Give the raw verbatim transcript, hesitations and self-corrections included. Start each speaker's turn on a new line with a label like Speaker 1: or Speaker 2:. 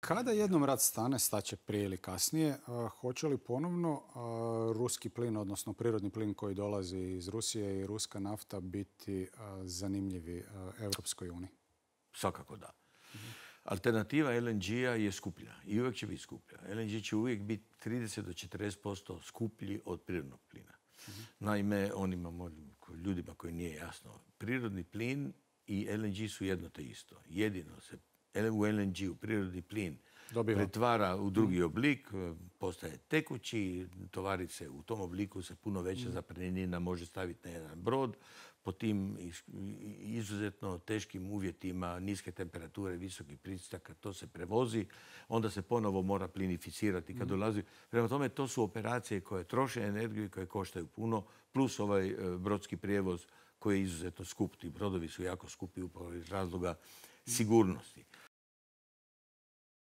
Speaker 1: Kada jednom rat stane, staće prije ili kasnije, hoće li ponovno ruski plin, odnosno prirodni plin koji dolazi iz Rusije i ruska nafta biti zanimljivi Europskoj uniji?
Speaker 2: Svakako da. Alternativa el en ge-a je skuplja i uvijek će biti skuplja. el en ge će uvijek biti trideset do četrdeset posto skuplji od prirodnog plina. Naime, onima ljudima koji nije jasno, prirodni plin i el en ge su jedno te isto. Jedino se u el en ge, u prirodni plin, dobiva, pretvara u drugi oblik, postaje tekući, tovari se u tom obliku se puno veća zapremnina može staviti na jedan brod. Po tim izuzetno teškim uvjetima, niske temperature, visokih pritisaka, to se prevozi, onda se ponovo mora plinificirati kad dolazi. Prema tome, to su operacije koje troše energiju i koje koštaju puno, plus ovaj brodski prijevoz koji je izuzetno skup. Ti brodovi su jako skupi upravo iz razloga sigurnosti.